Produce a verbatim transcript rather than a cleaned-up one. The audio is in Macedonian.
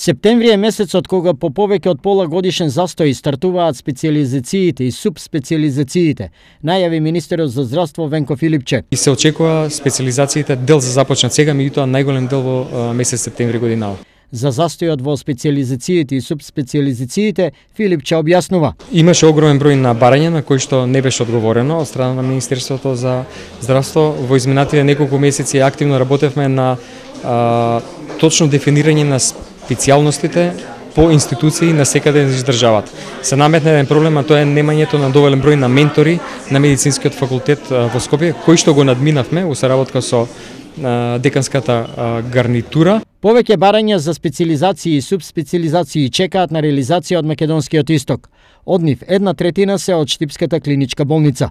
Септември е месецот кога по повеќе од пола годишен застој стартуваат специјализациите и субспецијализациите, најави министерот за здравство Венко Филипче. И се очекува специјализациите дел за започнат сега, меѓутоа најголем дел во месец септември годинава. За застојот во специјализациите и субспецијализациите Филипче објаснува. Имаше огромен број на барања на кои што не беше одговорено од страна на Министерството за здравство. Во изминатите неколку месеци активно работевме на а, точно дефинирање на специјалностите по институции на секаде из државата. Се наметна еден проблем, а тоа е немањето на доволен број на ментори на медицинскиот факултет во Скопје, кои што го надминавме во соработка со деканската гарнитура. Повеќе барања за специјализации и субспецијализации чекаат на реализација од македонскиот исток. Од нив една третина се од Штипската клиничка болница.